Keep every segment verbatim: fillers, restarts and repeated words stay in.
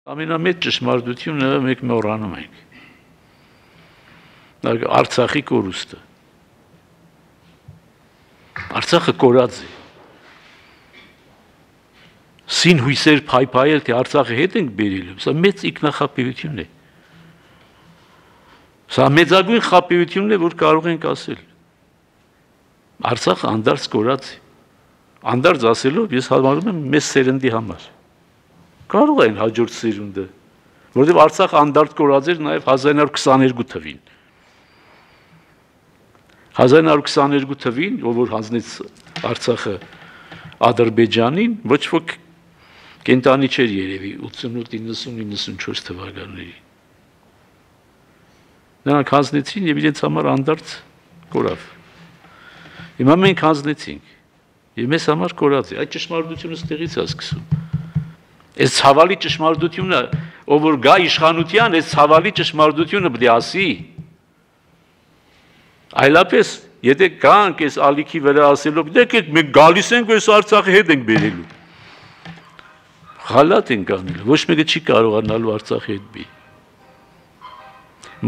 Ամենամեծ ճշմարտությունը մենք մոռանում ենք։ Արցախի կորուստը։ Արցախը կորած է։ Սին հույսեր փայփայել, թե Արցախը հետ ենք բերելու, սա մեծ ինքնախապեյություն է։ Սա մեծագույն խապեյությունն է, որ կարող ենք ասել։ Արցախը անդարձ կորած է։ Անդարձ ասելով ես համարում եմ մեծ սերնդի համար։ Կարող են հաջորդ սերունդը, որովհետև Արցախը անդարձ կորած էր նաև հազար ինը հարյուր քսաներկու թվին։ հազար ինը հարյուր քսաներկու թվին, ով որ հանձնեց Արցախը Ադրբեջանին, ոչ ոք կենտանի չէր երևի ութսունութ իննսուն իննսունչորս թվականների։ Նրանք հանձնեցին եւ իրենց համար անդարձ կորավ։ Հիմա մենք հանձնեցինք եւ մեզ համար կորած է։ Այդ ճշմարտությունը ստեղից է սկսում։ Այս ցավալի ճշմարտությունը, ով որ գա իշխանության, այս ցավալի ճշմարտությունը պետք է ասի։ Այլապես, եթե գանք այս ալիքի վրա ասելով, դեք մենք գալիս ենք այս Արցախի հետ ենք բերելու։ Խալատ ենք անելու, ոչ մեկը չի կարողանալու Արցախի հետ բի։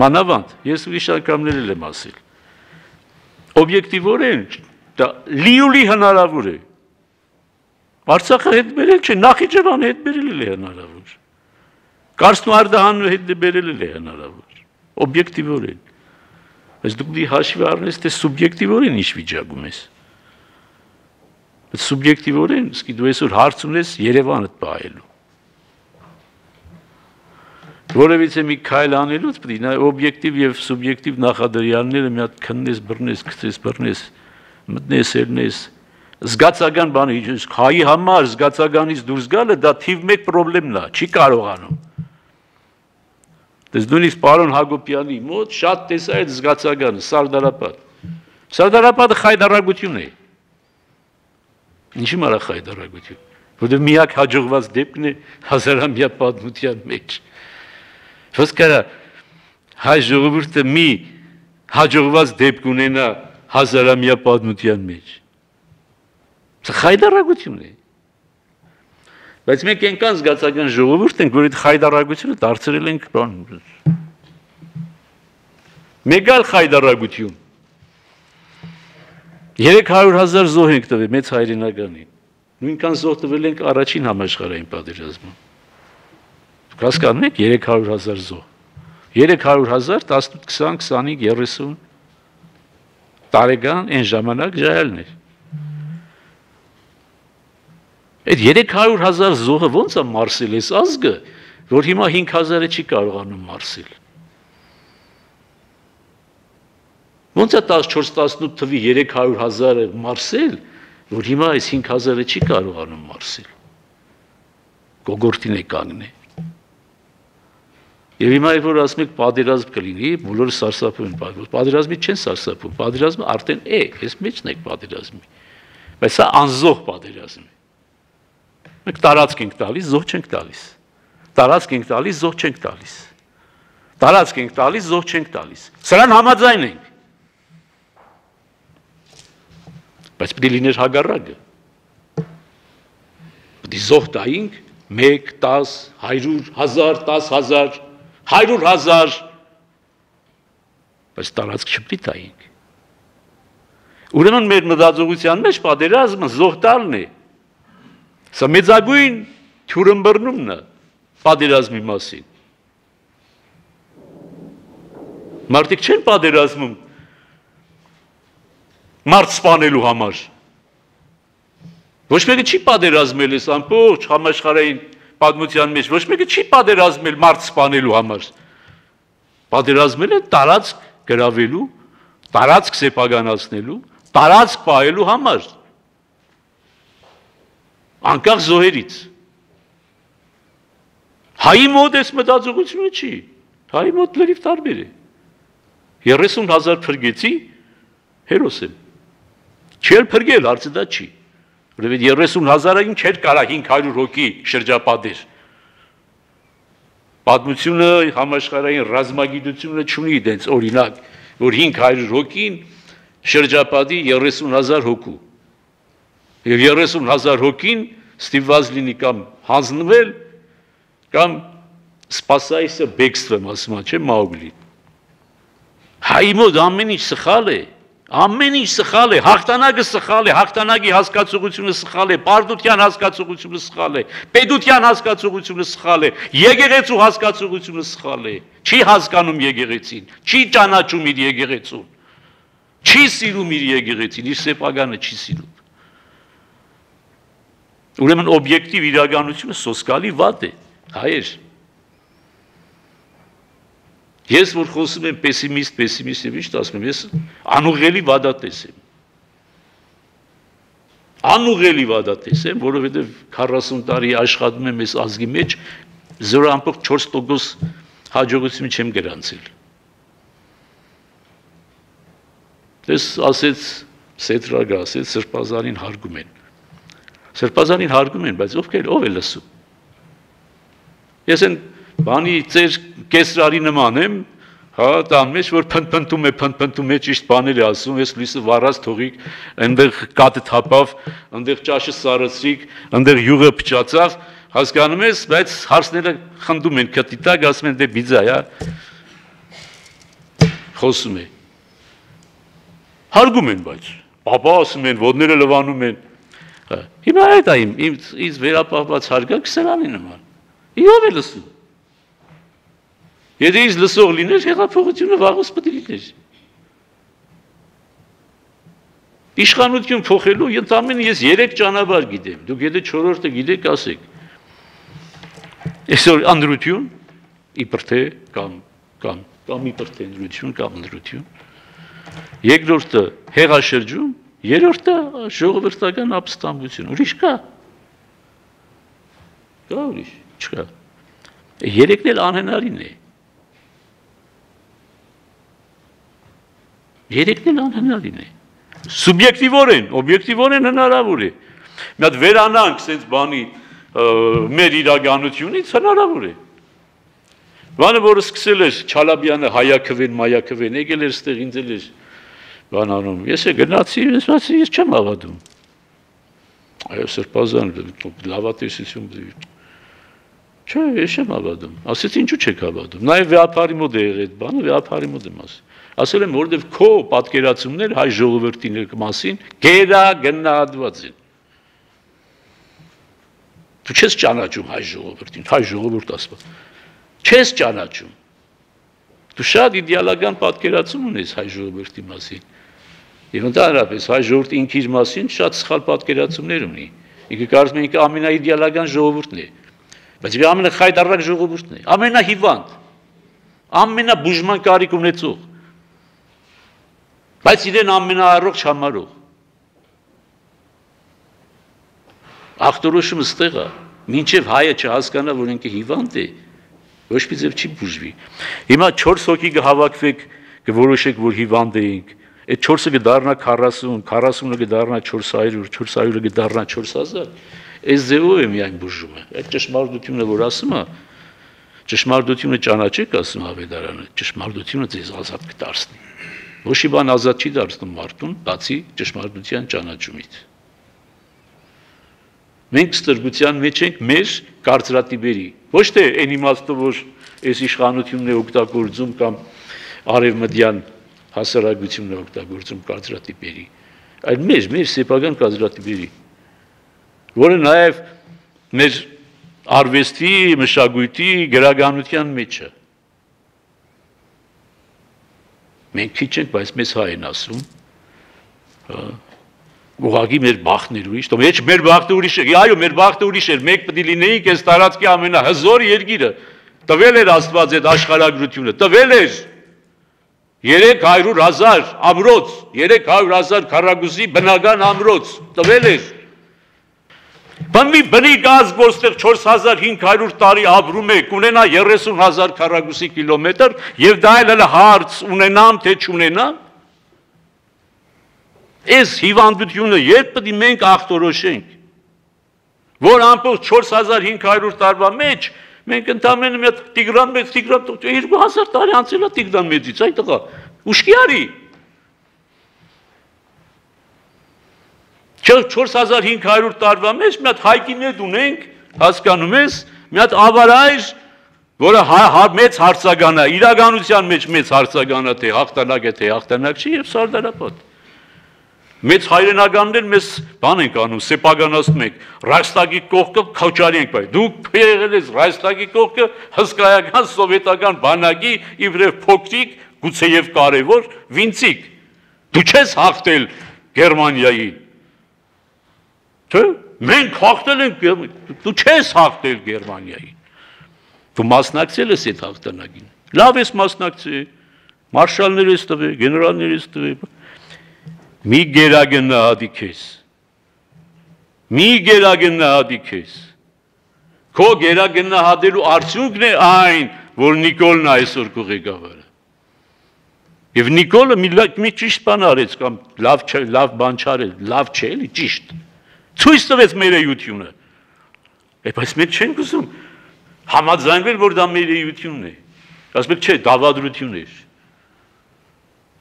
Մանավանդ, ես ուրիշ անգամներ եմ ասել։ Օբյեկտիվորեն դա լիուլի հնարավոր է։ Արցախը հետ բերել չէ, Նախիջևանը հետ բերել է հնարավոր։ Կարսն ու Արդահանը հետ բերել է հնարավոր։ Օբյեկտիվորեն։ Բայց դուք դի հաշվի առնես, թե սուբյեկտիվորեն ինչ վիճակում ես։ Բայց սուբյեկտիվորեն, սկի դու այսօր հարց ունես Երևանը պահելու։ Որևիցե մի քայլ անելուց պետք է նա օբյեկտիվ եւ սուբյեկտիվ նախադրյալները մի հատ քննես, բռնես, գցես, բռնես, մտնես, ելնես, զգացական բանի, հայի համար զգացականից դուրս գալը դա թիվ մեկ պրոբլեմն է, չի կարողանում։ Դες նույնիսկ պարոն Հակոբյանի մոտ շատ տեսա այդ զգացականը, Սարդարապատ։ Սարդարապատը խայդարագություն է։ Ինչի մարա խայդարագություն, որովհետև միակ հաջողված դեպքն է հազարամյա պատմության մեջ։ Ոնց կարա հայ ժողովուրդը մի հաջողված դեպք ունենա հազարամյա պատմության մեջ։ Սա խայդարագություն է։ Բայց մենք այնքան զգացական ժողովուրդ ենք, որ այդ խայդարագությունը դարձրել ենք բան։ Մեկ այլ խայդարագություն։ երեք հարյուր հազար զոհ ենք տվել մեծ հայրենականին։ Նույնքան զոհ տվել ենք առաջին համաշխարհային պատերազմում։ Հասկանում եք երեք հարյուր հազար զոհ։ երեք հարյուր հազար տասնութ քսան քսանհինգ երեսուն տարեկան այն ժամանակ ժայալն էր։ Այդ երեք հարյուր հազար զոհը ո՞նց է մարսել այս ազգը, որ հիմա հինգ հազարը չի կարողանում մարսել։ Ո՞նց է տասնչորս տասնութ թվի երեք հարյուր հազարը մարսել, որ հիմա այս հինգ հազարը չի կարողանում մարսել։ Գոգորտին է կանգնե։ Եվ հիմա երբ որ ասում եք պատերազմ կլինի, բոլորը սարսափում են, պատերազմի չեն սարսափում, պատերազմը արդեն է, ես մեջն եք պատերազմի։ Բայց սա անզոհ պատերազմ է։ Մենք տարածք ենք տալիս, զոհ չենք տալիս։ Տարածք ենք տալիս, զոհ չենք տալիս։ Տարածք ենք տալիս, զոհ չենք տալիս։ Սրան համաձայն ենք։ Բայց պետք է լիներ հագարակը։ Պետք է զոհ տայինք մեկ, տաս, հարյուր, հազար, տաս հազար, հարյուր հազար, բայց տարածք չպետք է տայինք։ Ուրեմն մեր մտածողության մեջ պատերազմը զոհ տալն է։ Սա մեծագույն թյուրըմբռնումն է պատերազմի մասին։ Մարդիկ չեն պատերազմում մարդ սպանելու համար։ Ոչ մեկը չի պատերազմել այս ամբողջ համաշխարհային պատմության մեջ, ոչ մեկը չի պատերազմել մարդ սպանելու համար։ Պատերազմել է տարածք գրավելու, տարածք սեփականացնելու, տարածք պահելու համար։ Անկախ զոհերից։ Հայի մոտ այս մտածողությունը չի, հայի մոտ լրիվ տարբեր է։ երեսուն հազար փրկեցի, հերոս եմ։ Չի էլ փրկել, հարցը դա չի։ Որովհետև երեսուն հազարային չէր կարա հինգ հարյուր հոգի շրջապատեր։ Պատմությունը, համաշխարհային ռազմագիտությունը չունի դենց օրինակ, որ հինգ հարյուր հոգին շրջապատի երեսուն հազար հոգու։ Եվ երեսուն հազար հոգին ստիպված լինի կամ հանձնվել, կամ Սպասայիսը բեքստվեմ ասում է, չէ՞ Մաուգլին։ Հայ մոտ ամեն ինչ սխալ է, ամեն ինչ սխալ է, հաղթանակը սխալ է, հաղթանակի հասկացողությունը սխալ է, պարտության հասկացողությունը սխալ է, պետության հասկացողությունը սխալ է, եկեղեցու հասկացողությունը սխալ է, չի հասկանում եկեղեցին, չի ճանաչում իր եկեղեցուն, չի սիրում իր եկեղեցին, իր սեփականը չի սիրում։ Ուրեմն օբյեկտիվ իրականությունը սոսկալի վատ է, հայեր։ Ես որ խոսում եմ պեսիմիստ, պեսիմիստ եւ ինչ ասում եմ, ես անուղղելի վադատես եմ։ Անուղղելի վադատես եմ, որովհետեւ քառասուն տարի աշխատում եմ այս ազգի մեջ, զրո ամբողջ չորս տոկոս հաջողություն չեմ գրանցել։ Դες ասեց Սետրագը ասեց Սրբազանին հարգում են։ Սրբազանին հարգում են, բայց ովքեր ով է լսում։ Ես են բանի ծեր կեսրարի նման եմ, հա, տան մեջ որ փնփնտում է, փնփնտում է ճիշտ բաներ է ասում, ես լույսը վառած թողիկ, այնտեղ կատը թափավ, այնտեղ ճաշը սարացրիկ, այնտեղ յուղը փչացավ, հասկանում ես, բայց հարցները խնդում են քթի տակ, ասում են դե բիձա, հա։ Խոսում է։ Հարգում են, բայց պապա ասում են, ոտները լվանում են։ Հիմա այդ է իմ ինձ վերապահված հարգանք սրանի նման։ Իով է լսում։ Եթե ինձ լսող լիներ, հեղափոխությունը վաղուց պետք է լիներ։ Իշխանություն փոխելու ընդամենը ես երեք ճանապարհ գիտեմ։ Դուք եթե չորրորդը գիտեք, ասեք։ Այսօր անդրություն, իբր թե կամ կամ կամ իբր թե անդրություն կամ անդրություն։ Երկրորդը հեղաշրջում, երրորդը ժողովրդական ապստամբություն։ Ուրիշ կա։ Կա ուրիշ, չկա։ Երեքն էլ անհնարին է։ Երեքն էլ անհնարին է։ Սուբյեկտիվորեն, օբյեկտիվորեն հնարավոր է։ Մի հատ վերանանք sense բանի մեր իրականությունից հնարավոր է։ Բանը որը սկսել էր Չալաբյանը հայաքվեն, մայաքվեն, եկել էր ստեղ ինձ էլ էր բան անում։ Ես է գնացի, ես ասացի, ես չեմ հավատում։ Այո, Սրբազան, լավատեսություն։ Չէ, ես չեմ հավատում։ Ասեցի, ինչու չեք հավատում։ Նաև վեհապարի մոտ է եղել այդ բանը, վեհապարի մոտ եմ ասել։ Ասել եմ, որովհետև քո պատկերացումներ հայ ժողովրդի մասին գերագնահատված են։ Դու չես ճանաչում հայ ժողովրդին, հայ ժողովուրդ ասված։ Չես ճանաչում։ Դու շատ իդեալական պատկերացում ունես հայ ժողովրդի մասին։ Եվ ընդհանրապես հայ ժողովուրդը ինքը իր մասին շատ սխալ պատկերացումներ ունի։ Ինքը կարծում է ինքը ամենաիդեալական ժողովուրդն է։ Բայց ինքը ամենախայտարակ ժողովուրդն է, ամենահիվանդ, ամենաբուժման կարիք ունեցող։ Բայց իրեն ամենաառողջ համարող։ Ախտորոշումը ստեղ է, մինչև հայը չհասկանա, որ ինքը հիվանդ է, ոչ մի ձև չի բուժվի։ Հիմա չորս հոգի կհավաքվեք, կորոշեք, որ հիվանդ էինք, այդ չորսը կդառնա քառասուն, քառասունը կդառնա չորս հարյուր, չորս հարյուրը կդառնա չորս հազար, այս ձևով է միայն բուժումը։ Այդ ճշմարտությունը, որ ասում է, ճշմարտությունը ճանաչեք, ասում Ավետարանը, ճշմարտությունը ձեզ ազատ կդարձնի։ Ոչ մի բան ազատ չի դարձնում մարդուն, բացի ճշմարտության ճանաչումից։ Մենք ստրգության մեջ ենք մեր կարծրատիպերի, ոչ թե այն իմաստով, որ այս իշխանությունն է օգտագործում կամ արևմտյան հասարակությունն է օգտագործում կարծրատիպերի, այլ մեր, մեր սեփական կարծրատիպերի, որը նաև մեր արվեստի, մշակույթի, գրականության մեջ է։ Մենք քիչ ենք, բայց մեզ հայ են ասում, ուղղակի մեր բախտն էր ուրիշ, թող մեր բախտը ուրիշ է, այո, մեր բախտը ուրիշ էր, մենք պետք է լինեինք այս տարածքի ամենահզոր երկիրը, տվել էր Աստված այդ աշխարհագրությունը, տվել էր երեք հարյուր հազար ամրոց, երեք հարյուր հազար քառակուսի բնական ամրոց, տվել էր։ Բան մի բնիկ ազգ, որտեղ չորս հազար հինգ հարյուր տարի ապրում է, կունենա երեսուն հազար քառակուսի կիլոմետր, եւ դա էլ հարց ունենամ, թե չունենամ։ Այս հիվանդությունը երբ պետք է մենք ախտորոշենք, որ ամբողջ չորս հազար հինգ հարյուր տարվա մեջ մենք ընդամենը մի հատ Տիգրան մեծ, Տիգրան երկու հազար տարի անցել է Տիգրան մեծից, այդ տղա, ուշքի արի։ չորս հազար հինգ հարյուր տարվա մեջ մի հատ հայկիներ ունենք, հասկանում ես, մի հատ ավարայր որը մեծ հարցական է, իրականության մեջ մեծ հարցական է, թե հաղթանակ է, թե հաղթանակ չի, եւ Սարդարապատ։ Մեծ հայրենականներ մեզ բան ենք անում, սեպականացնում ենք, Ռայխստագի կողքը քաչարի ենք բայ։ Դուք եղել եք Ռայխստագի կողքը հսկայական սովետական բանակի իբրև փոքրիկ, գուցեև կարևոր վինցիկ։ Դու չես հաղթել Գերմանիայի։ Թե մենք հաղթել ենք, դու չես հաղթել Գերմանիայի։ Դու մասնակցել ես այդ հաղթանակին։ Լավ ես մասնակցել, մարշալներ ես տվել, գեներալներ ես տվել։ Մի գերագնահատիկ ես։ Մի գերագնահատիկ ես։ Քո գերագնահատելու արդյունքն է այն, որ Նիկոլն այսօր քո ղեկավարը։ Եվ Նիկոլը մի ճիշտ բան արեց կամ լավ լավ բան չարել, լավ չէ, էլի ճիշտ։ Ցույց տվեց մեր էությունը։ Բայց մենք չենք ուզում համաձայնվել, որ դա մեր էությունն է։ Ասում եք, չէ, դավադրություն է։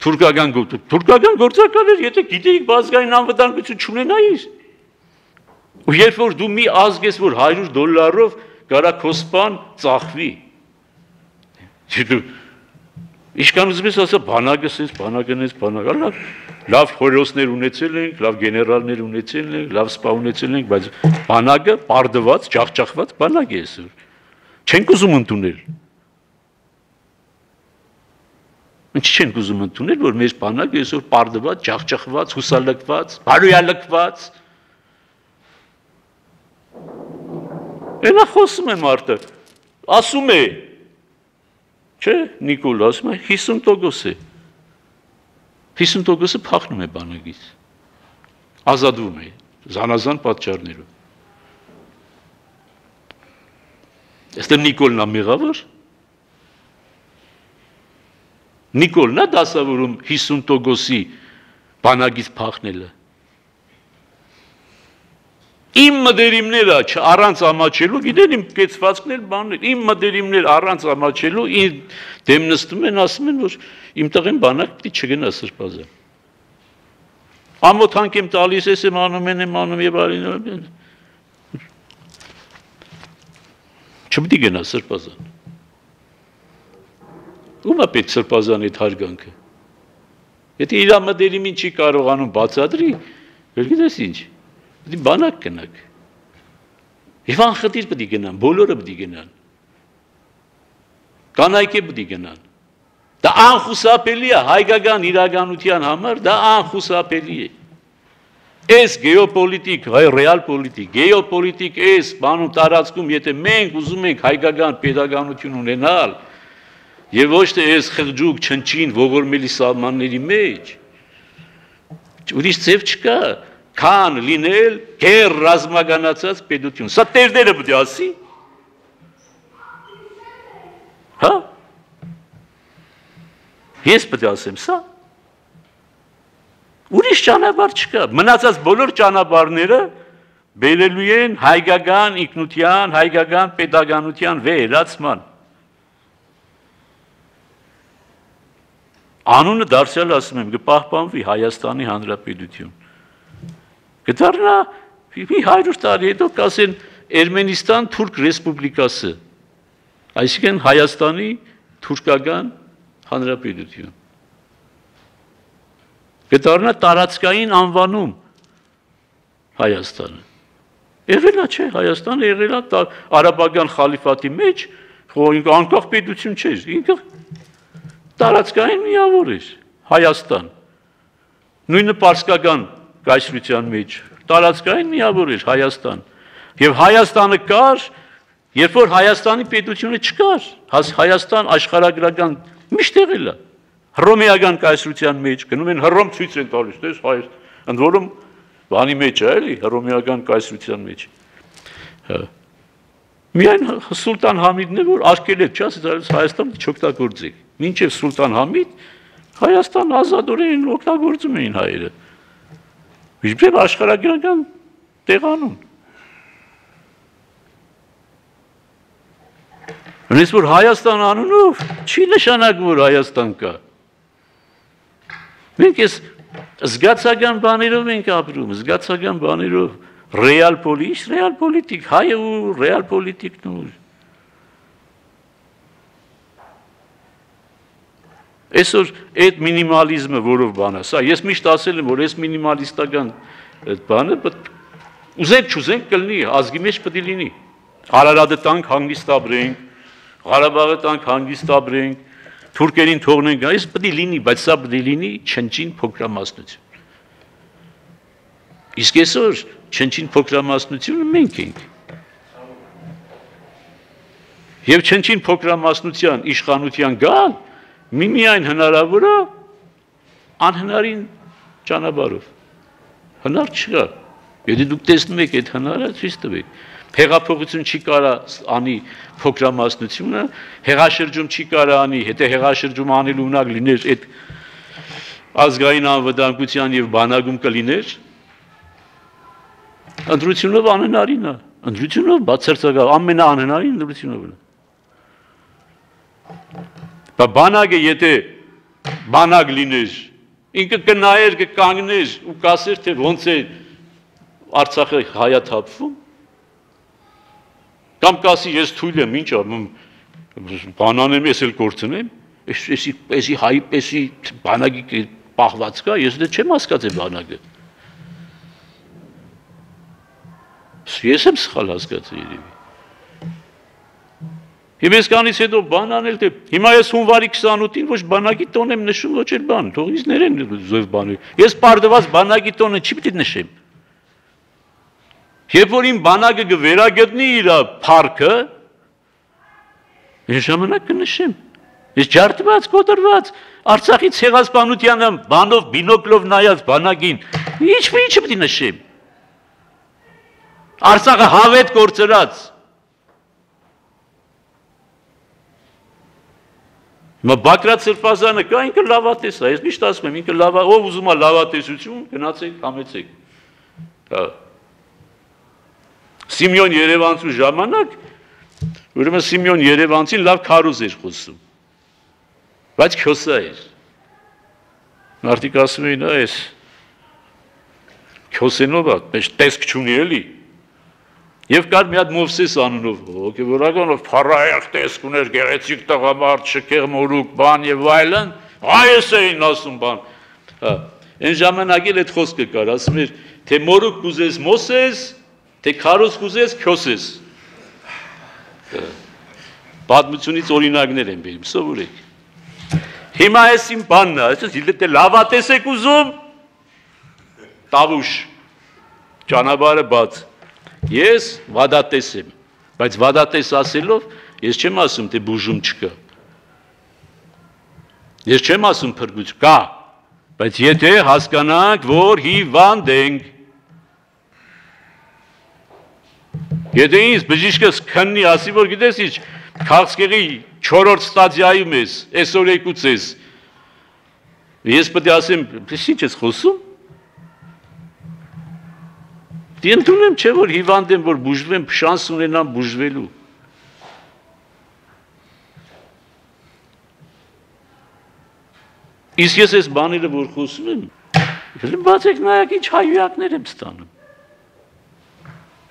Թուրքական գործ, թուրքական գործակալներ, եթե գիտեիք բազգային անվտանգություն չունենայիր։ Ու երբ որ դու մի ազգ ես, որ հարյուր դոլարով կարա քո սպան ծախվի։ Իշքան ուզում ես ասա, բանակս ես, բանակն ես, բանակը, լավ խորհրդներ ունեցել ենք, լավ գեներալներ ունեցել ենք, լավ սպա ունեցել ենք, բայց բանակը պարդված, ջախջախված բանակ է այսօր։ Չենք ուզում ընդունել։ Ինչ չենք ուզում ընդունել, որ մեր բանակը այսօր պարդված, ջախջախված, հուսալքված, բարոյալքված։ Էնա խոսում է մարդը, ասում է, չէ, Նիկոլ ասում է, հիսուն տոկոս է։ հիսուն տոկոսը փախնում է բանակից։ Ազատվում է, զանազան պատճառներով։ Այստեղ Նիկոլն է մեղավոր։ Նիկոլն է դասավորում հիսուն տոկոսի բանակից փախնելը։ Իմ մտերիմները առանց ամաչելու, գիտեն իմ կեցվածքներ բաններ, իմ մտերիմներ առանց ամաչելու իմ դեմ նստում են, ասում են, որ իմ տղեն բանակ պիտի չգնա սրբազան։ Ամոթանք եմ տալիս, ես եմ անում, են եմ անում եւ այլն։ Չպիտի գնա սրբազան։ Ում է պետք սրբազան այդ հարգանքը։ Եթե իր մտերիմին չի կարողանում բացատրի, գիտես ինչ, պիտի բանակ գնաք։ Եվ անխտիր պիտի գնան, բոլորը պիտի գնան։ Կանայք է պիտի գնան։ Դա անխուսափելի է հայկական իրականության համար, դա անխուսափելի է։ Այս գեոպոլիտիկ, ռեալ պոլիտիկ, գեոպոլիտիկ այս բանում տարածքում, եթե մենք ուզում ենք հայկական պետականություն ունենալ, եւ ոչ թե այս խղճուկ չնչին ողորմելի սահմանների մեջ, ուրիշ ձև չկա, քան լինել գեր ռազմականացած պետություն։ Սա տերները պետք է ասի։ Հա։ Ես պետք է ասեմ սա։ Ուրիշ ճանապարհ չկա։ Մնացած բոլոր ճանապարհները բերելու են հայկական ինքնության, հայկական պետականության վերացման։ Անունը դարձյալ ասում եմ, կպահպանվի Հայաստանի Հանրապետություն։ Կդառնա մի հարյուր տարի հետո կասեն Էրմենիստան Թուրք Ռեսպուբլիկасы, այսինքն Հայաստանի թուրքական հանրապետություն։ Կդառնա տարածքային անվանում Հայաստանը։ Եղել է, չէ, Հայաստանը եղել է արաբական խալիֆատի մեջ, անկախ պետություն չէր, ինքը տարածքային միավոր էր Հայաստան։ Նույնը պարսկական կայսրության մեջ տարածքային միավոր էր Հայաստան։ Եվ Հայաստանը կար, երբ որ Հայաստանի պետությունը չկար, Հայաստան աշխարհագրական միշտ եղել է։ Հռոմեական կայսրության մեջ գնում են Հռոմ ցույց են տալիս, դες հայ, ընդ որում բանի մեջ է, էլի, Հռոմեական կայսրության մեջ։ Հա։ Միայն Սուլտան Համիդն է, որ արկել է, չէ՞, Հայաստանը չօգտագործի։ Մինչև Սուլտան Համիդ Հայաստան ազատորեն օգտագործում էին հայերը։ Իբրև աշխարհագրական տեղանուն։ Հենց որ Հայաստան անունով չի նշանակում, որ Հայաստան կա։ Մենք ես զգացական բաներով ենք ապրում, զգացական բաներով, ռեալ պոլիտիկ, ռեալ պոլիտիկ, հայը ու ռեալ պոլիտիկն ու Այսօր այդ մինիմալիզմը որով բան է, սա ես միշտ ասել եմ, որ այս մինիմալիստական բանը ուզենք չուզենք կլինի, ազգի մեջ պետք է լինի։ Արարատը տանք հանգիստ ապրենք, Ղարաբաղը տանք հանգիստ ապրենք, թուրքերին թողնենք, այս պետք է լինի, բայց սա պետք է լինի չնչին փոքրամասնություն։ Իսկ այսօր չնչին փոքրամասնությունը մենք ենք։ Եվ չնչին փոքրամասնության իշխանության գալ միմիայն հնարավոր է անհնարին ճանապարհով։ Հնար չկա։ Եթե դուք տեսնում եք այդ հնարը, ցույց տվեք։ Հեղափոխություն չի կարա անի փոքրամասնությունը, հեղաշրջում չի կարա անի, եթե հեղաշրջում անելու ունակ լիներ այդ ազգային անվտանգության եւ բանակում կլիներ, ընտրությունով անհնարին է, ընտրությունով բացարձակավ ամենաանհնարին ընտրությունով է։ Բանակը եթե բանակ լիներ, ինքը կնայեր, կկանգներ ու կասեր, թե ոնց է Արցախը հայաթափվում, կամ կասի ես թույլ եմ, ինչ ամ բանանեմ, ես էլ կորցնեմ, էսի հայի եսի բանակի պահված կա, ես դե չեմ հասկացել բանակը։ Ես եմ սխալ հասկացել երևի։ Եվ ես կանից հետո բան անել, թե հիմա ես հունվարի քսանութին ոչ բանակի տոն եմ նշում, ոչ էլ բան, թող ինձ ներեն զոհ բանը։ Ես պարդված բանակի տոնը չի պիտի նշեմ։ Երբ որ իմ բանակը կվերագտնի իր փառքը, ես ժամանակ կնշեմ։ Ես ջարդված, կոտրված, Արցախի ցեղասպանությանը բանով բինոկլով նայած բանակին, ինչ ինչ պիտի նշեմ։ Արցախը հավետ կորցրած։ Մա Բակրատ Սրբազանը կա, ինքը լավատես է, ես միշտ ասում եմ, ինքը լավա, ով ուզում է լավատեսություն, գնացեք, համեցեք։ Հա։ Սիմեոն Երևանցու ժամանակ, ուրեմն Սիմեոն Երևանցին լավ քարոզ էր խոսում։ Բայց քյոսա էր։ Մարդիկ ասում էին, այս քյոսենով է, մեջ տեսք չունի էլի։ Եվ կար մի հատ Մովսես անունով, հոգևորականով փառահեղ տեսք ուներ, գեղեցիկ տղամարդ, շքեղ մորուք, բան եւ այլն, հայս էին ասում բան։ Հա, այն ժամանակ էլ այդ խոսքը կար, ասում էր, թե մորուք կուզես Մոսես, թե քարոզ կուզես Քյոսես։ Պատմությունից օրինակներ են բերում, սովորեք։ Հիմա այս իմ բանն է, այսինքն եթե լավատես եք ուզում, տավուշ, ճանապարհը բաց։ Ես վադատես եմ, բայց վադատես ասելով, ես չեմ ասում, թե բուժում չկա։ Ես չեմ ասում փրկություն կա, բայց եթե հասկանանք, որ հիվանդ ենք, եթե ինձ բժիշկս քննի, ասի, որ գիտես ինչ, Քաղցկեղի չորրորդ ստադիայում ես, այսօր եկուց ես, ես պետք է ասեմ, ինչ ես խոսում, Դինդունեմ չէ, որ հիվանդ եմ, որ բուժվեմ, շանս ունենամ բուժվելու։ Իսկ ես այս բաները, որ խոսում եմ, բացեք նայակ ինչ հայույակներ եմ ստանում։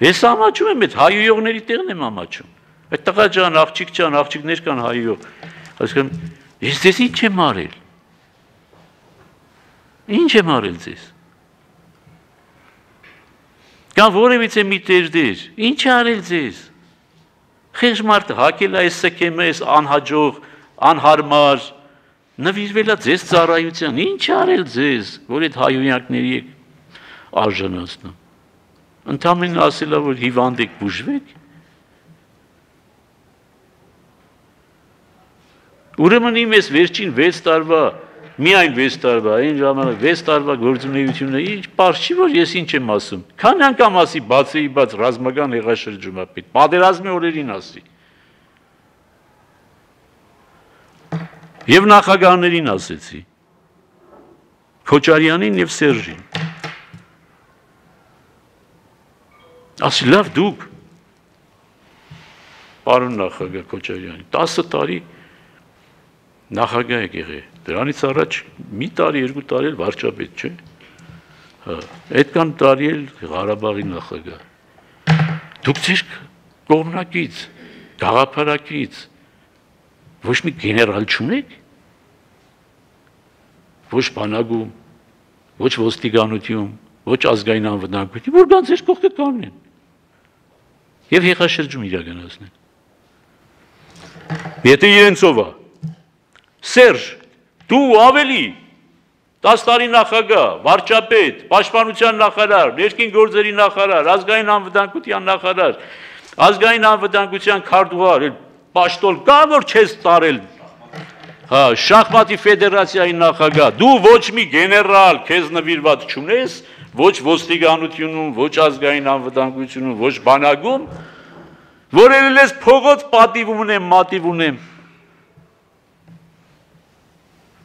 Ես ամաչում եմ, այդ հայույողների տեղն եմ ամաչում։ Այդ տղա ջան, աղջիկ ջան, աղջիկներ կան հայույող։ Ասում, ես ձեզ ինչ եմ արել։ Ինչ եմ արել ձեզ։ Կամ որևիցե մի տերդեր, ինչ արել ձեզ։ Խեղճ մարդը հակել է այս սքեմը, այս անհաջող, անհարմար, նվիրվել է ձեզ ծառայության, ինչ արել ձեզ, որ այդ հայույակների եք արժանացնում։ Ընդամենը ասել է, որ հիվանդ եք բուժվեք։ Ուրեմն իմ ես վերջին վեց տարվա, միայն վեց տարվա, այն ժամանակ վեց տարվա գործունեությունը ինչ պարզ չի, որ ես ինչ եմ ասում։ Քանի անգամ ասի բացեի բաց ռազմական հեղաշրջումը պետք, պատերազմի օրերին ասի։ Եվ նախագահներին ասեցի, Քոչարյանին եւ Սերժին։ Ասի լավ դուք, պարոն նախագահ Քոչարյանի, տասը տարի նախագահ եք եղել, դրանից առաջ մի տարի, երկու տարի էլ վարչապետ, չէ՞։ Հա, այդքան տարի էլ Ղարաբաղի նախագահ։ Դուք ձեր կողմնակից, գաղափարակից ոչ մի գեներալ չունեք։ ոչ բանակում, ոչ ոստիկանություն, ոչ ազգային անվտանգություն, որ գան ձեր կողքը կանգնեն եւ հեղաշրջում իրականացնեն։ Եթե իրենցով է, Սերժ, դու ավելի տասը տարի նախագահ, վարչապետ, պաշտպանության նախարար, ներքին գործերի նախարար, ազգային անվտանգության նախարար, ազգային անվտանգության քարտուղար, պաշտոն կա որ չես տարել, հա, շախմատի ֆեդերացիայի նախագահ, դու ոչ մի գեներալ քեզ նվիրված չունես, ոչ ոստիկանությունում, ոչ ազգային անվտանգությունում, ոչ բանակում, որ ելես փողոց պատիվ ունեմ, մատիվ ունեմ։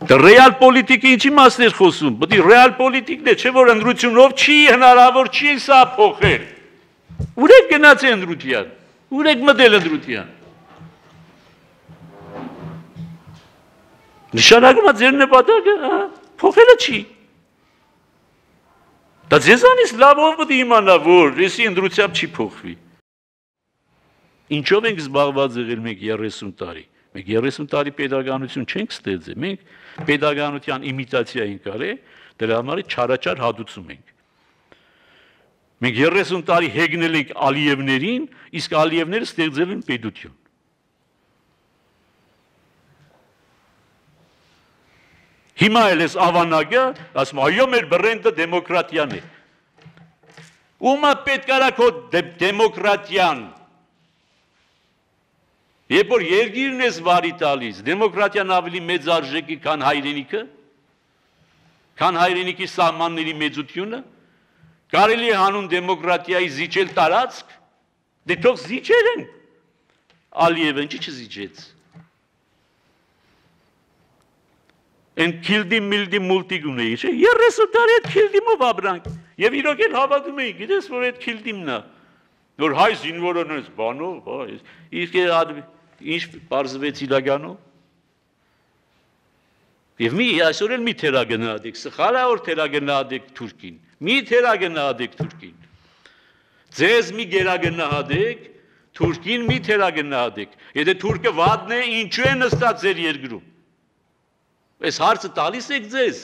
Դա ռեալ պոլիտիկի ինչի մասն էր խոսում, պետք է ռեալ պոլիտիկն է, չէ որ ընդրությունով չի հնարավոր չի սա փոխել։ Ուր եք գնացել ընդրության, ուր եք մտել ընդրության։ Նշանակում է ձեր նպատակը, փոխելը չի։ Դա ձեզանից լավով պետք է իմանա, որ եսի ընդրությամբ չի փոխվի։ Ինչով ենք զբաղված եղել մենք երեսուն տարի։ Մենք երեսուն տարի pedagoganություն չենք ստեղծել, մենք pedagoganության իմիտացիա ենք արել, դրա համար չարաչար հադուցում ենք։ Մենք երեսուն տարի հեգնել ենք Ալիևներին, իսկ Ալիևները ստեղծել են պետություն։ Հիմա էլ էս ավանակը, ասում այո մեր բրենդը դեմոկրատիան է։ Ումա պետք արա քո դեմոկրատիան։ Երբ որ երկիրն ես վարի տալիս, դեմոկրատիան ավելի մեծ արժեքի, քան հայրենիքը, քան հայրենիքի սահմանների մեծությունը, կարելի է հանուն դեմոկրատիայի զիջել տարածք, դե թող զիջեր են, Ալիևը ինչի չզիջեց։ Են քիլդի միլդի մուլտիգուն էի, չէ, երեսուն տարի այդ քիլդիմով ապրանք, և իրոք էլ հավատում էի, գիտես, որ այդ քիլդիմն է, որ հայ զինվորն ես բանով, իսկ ինչ պարզվեց իրականով։ Եվ մի այսօր էլ մի թերագնահատեք, սխալ է որ թերագնահատեք Թուրքին, մի թերագնահատեք Թուրքին։ Ձեզ մի գերագնահատեք, Թուրքին մի թերագնահատեք։ Եթե թուրքը վատն է, ինչու է նստած ձեր երկրում։ Այս հարցը տալիս եք ձեզ։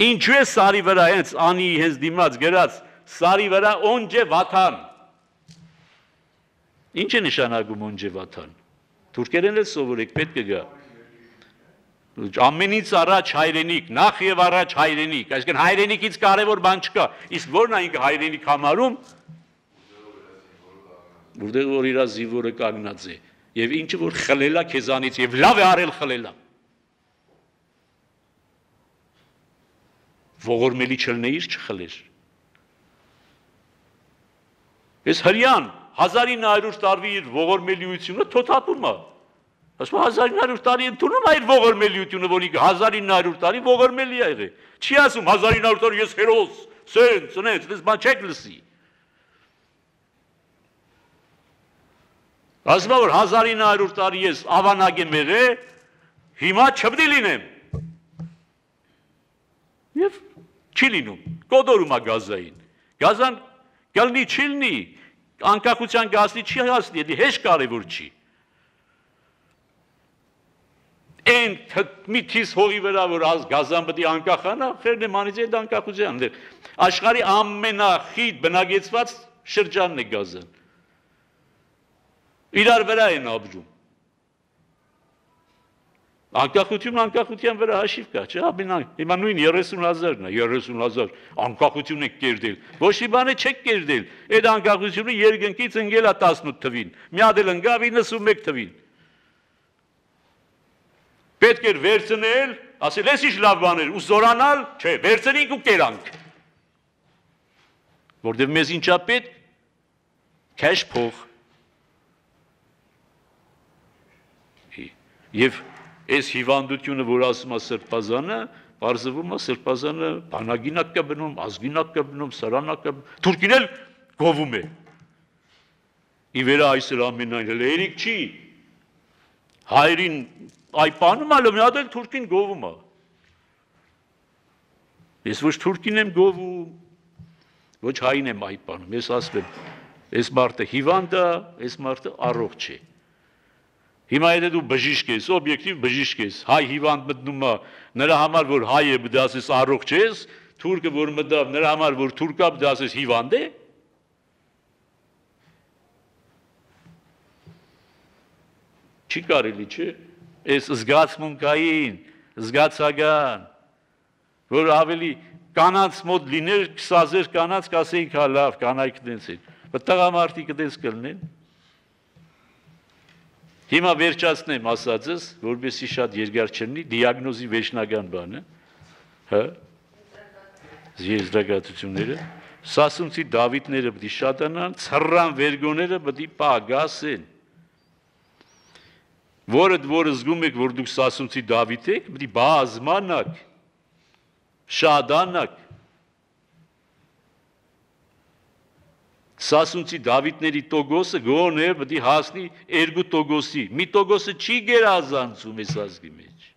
Ինչու է սարի վրա հենց անի հենց դիմաց գրած սարի վրա օնջե վաթան։ Ինչ է նշանակում օնջե վաթան։ Թուրքերեն էլ սովորեք, պետք է գա։ Ամենից առաջ հայրենիք, նախ եւ առաջ հայրենիք, այսինքն հայրենիքից կարևոր բան չկա։ Իսկ որն է ինքը հայրենիք համարում, որտեղ որ իր զինվորը կանգնած է, եւ ինչը որ խլելա քեզանից եւ լավ է արել խլելա։ Ողորմելի չլնեիր չխլեր։ Ես հրյան հազար ինը հարյուր տարվի իր ողորմելիությունը թոթափում է։ Ասում հազար ինը հարյուր տարի ընդունում է իր ողորմելիությունը, որ ինքը հազար ինը հարյուր տարի ողորմելի է եղել։ Չի ասում հազար ինը հարյուր տարի ես հերոս, սենց, սենց, դες բան չեք լսի։ Ասում որ հազար ինը հարյուր տարի ես ավանակ եմ եղել, հիմա չպետք է լինեմ։ Եվ չի լինում, կոդորում է գազային։ Գազան գալնի չի լինի, անկախության գազնի չի հասնի, եթե հեշտ կարևոր չի։ Են մի թիս հողի վրա, որ գազան պետք է անկախանա, խերն է մանից այդ անկախության։ Աշխարհի ամենախիտ բնակեցված շրջանն է գազան։ Իրար վրա են ապրում։ Անկախություն անկախության վրա հաշիվ կա, չէ՞, հիմա նույն երեսուն հազարն է, երեսուն հազար անկախություն եք կերտել, ոչ մի բան չեք կերտել, այդ անկախությունը երկնքից ընկել է տասնութ թվին, մի հատ էլ ընկավ իննսունմեկ թվին։ Պետք էր վերցնել, ասել ես ինչ լավ բաներ, ու զորանալ, չէ, վերցնենք ու կերանք։ Որտև մեզ ինչա պետք, քեշ փող։ Եվ այս հիվանդությունը, որ ասում է սրբազանը, պարզվում է սրբազանը բանագինակ կա բնում, ազգինակ կա բնում, սարանակ կա բնում, թուրքին էլ գովում է։ Ի վերա այսր ամենայն էլ երիք չի, հայրին այ պանում ալը մի հատ էլ թուրքին գովում է։ Ես ոչ թուրքին եմ գովում, ոչ հային եմ այ պանում, ես ասում եմ, այս մարդը հիվանդ է, այս մարդը առողջ է։ Հիմա եթե դու բժիշկ ես, օբյեկտիվ բժիշկ ես, հայ հիվանդ մտնում է, նրա համար որ հայ է, դասես առողջ ես, թուրքը որ մտավ, նրա համար որ թուրքա, դասես հիվանդ է։ Չի կարելի, չէ՞։ Այս զգացմունքային, զգացական, որ ավելի կանանց մոտ լիներ, քսազեր կանանց կասեին հա լավ, կանայք դենց են, բայց տղամարդիկ դենց կլինեն։ Հիմա վերջացնեմ ասածս, որպեսզի շատ երկար չլինի, դիագնոզի վերջնական բանը, հա, եզրակացությունները, Սասունցի Դավիթները պետք է շատանան, ցռան վերգոները պետք է պագասեն։ Որդ որ զգում եք, որ դուք Սասունցի Դավիթ եք, պետք է բազմանաք, շադանաք։ Սասունցի Դավիթների տոգոսը գոնե պետք է հասնի երկու տոգոսի։ Մի տոգոսը չի գերազանցում այս ազգի մեջ։